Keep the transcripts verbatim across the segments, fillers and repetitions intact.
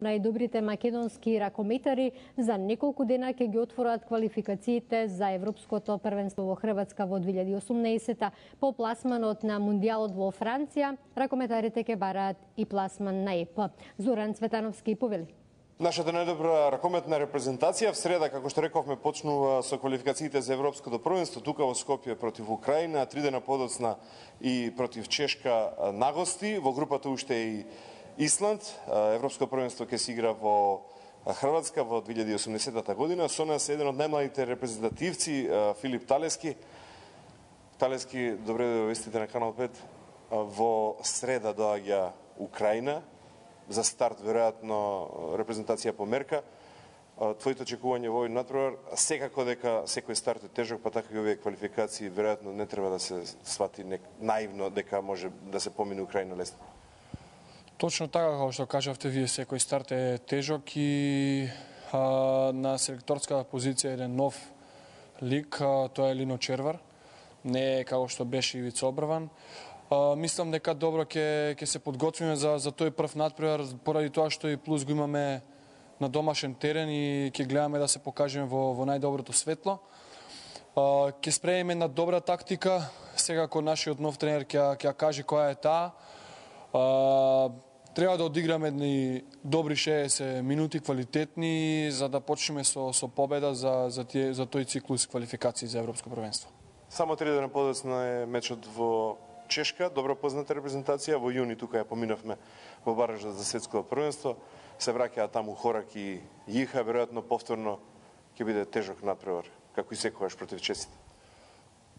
Најдобрите македонски ракометари за неколку дена ќе ги отворат квалификациите за Европското првенство во Хрватска во две илјади и осумнаесета. По пласманот на Мундијалот во Франција, ракометарите ќе бараат и пласман на ЕП. Зоран Цветановски повели. Нашата најдобра ракометна репрезентација в среда, како што рековме, почнува со квалификациите за Европското првенство тука во Скопје против Украина, три дена подоцна и против Чешка на гости. Во групата уште и Исланд. Европско првенство ќе се игра во Хрватска во две илјади и осумнаесета година. Со нас е еден од најмладите репрезентативци, Филип Талески. Талески, добре да вестите на Канал пет. Во среда доаѓа Украина. За старт, веројатно, репрезентација по мерка. Твоите очекувања во овој натпревар, секако дека секој старт е тежок, па така и овие квалификации, веројатно не треба да се свати наивно дека може да се помине Украина лесно. Точно така, како што кажавте вие, секој старт е тежок и а, на селекторска позиција еден нов лик, а, тоа е Лино Червар, не е како што беше Ивица Обрван. А, мислам дека добро ќе ќе се подготвиме за за тој прв натпревар, поради тоа што и плюс го имаме на домашен терен и ќе гледаме да се покажеме во во најдоброто светло. А, ќе спремиме една добра тактика, секако нашиот нов тренер ќе ќе каже која е таа. А, Треба да одиграме едни добри шеесет минути, квалитетни, за да почнеме со, со победа за, за, тие, за тој циклус квалификации за Европско првенство. Само три дена подоцна е мечот во Чешка, добро позната репрезентација. Во јуни тука ја поминавме во баража за светско првенство. Се враќаа таму Хорак и Јиха, веројатно повторно ќе биде тежок натпревар, како и секогаш против чесите.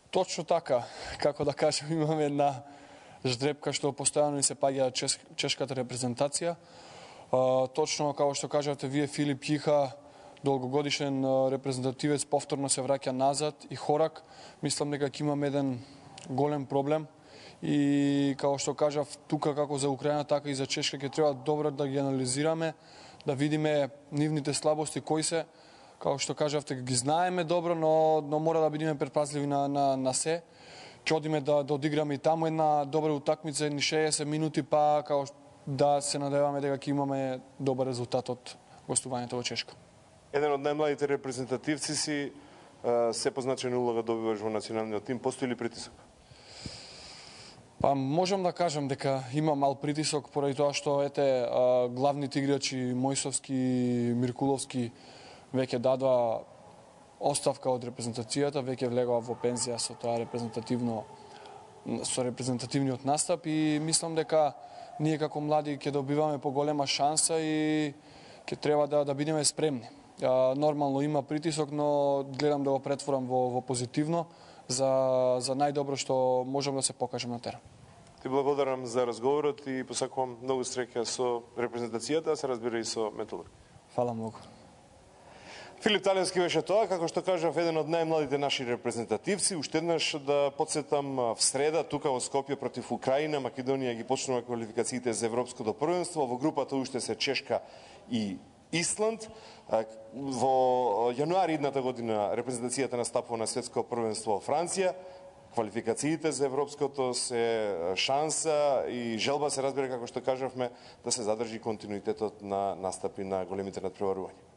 Точно така, како да кажем, имаме една ждрепка што постојано ни се паѓа чеш, чешката репрезентација. А, точно како што кажавте вие, Филип Јиха, долгогодишен репрезентативец, повторно се враќа назад, и Хорак. Мислам дека ќе имаме еден голем проблем и како што кажав, тука како за Украина, така и за Чешка ќе треба добро да ги анализираме, да видиме нивните слабости кои се. Како што кажавте, ги знаеме добро, но, но мора да бидеме предпазливи на, на, на се. Ќе одиме да, да одиграме и таму една добра утакмица, едни шеесет минути, па како да се надеваме дека ќе имаме добар резултат од гостувањето во Чешка. Еден од најмладите репрезентативци си, се позначена улога добиваш во националниот тим. Постои ли притисок? Па можам да кажам дека има мал притисок, поради тоа што ете главните играчи Мојсовски и Миркуловски веќе дадоа оставка од репрезентацијата, веќе влегува во пензија со тоа репрезентативно со репрезентативниот настап, и мислам дека ние како млади ќе добиваме поголема шанса и ќе треба да да бидеме спремни. А, нормално има притисок, но гледам да го претворам во во позитивно за за најдобро што можам да се покажам на терен. Ти благодарам за разговорот и посакувам многу среќа со репрезентацијата, а се разбира и со Металург. Фала многу. Филип Талески беше тоа, како што кажав, еден од најмладите наши репрезентативци. Уште еднаш да подсетам, в среда тука во Скопје против Украина, Македонија ги почнува квалификациите за Европското првенство. Во групата уште се Чешка и Исланд. Во јануари идната година репрезентацијата настапува на светско првенство во Франција. Квалификациите за Европското се шанса и желба, се разбира, како што кажавме, да се задржи континуитетот на настапи на големите надпреварувања.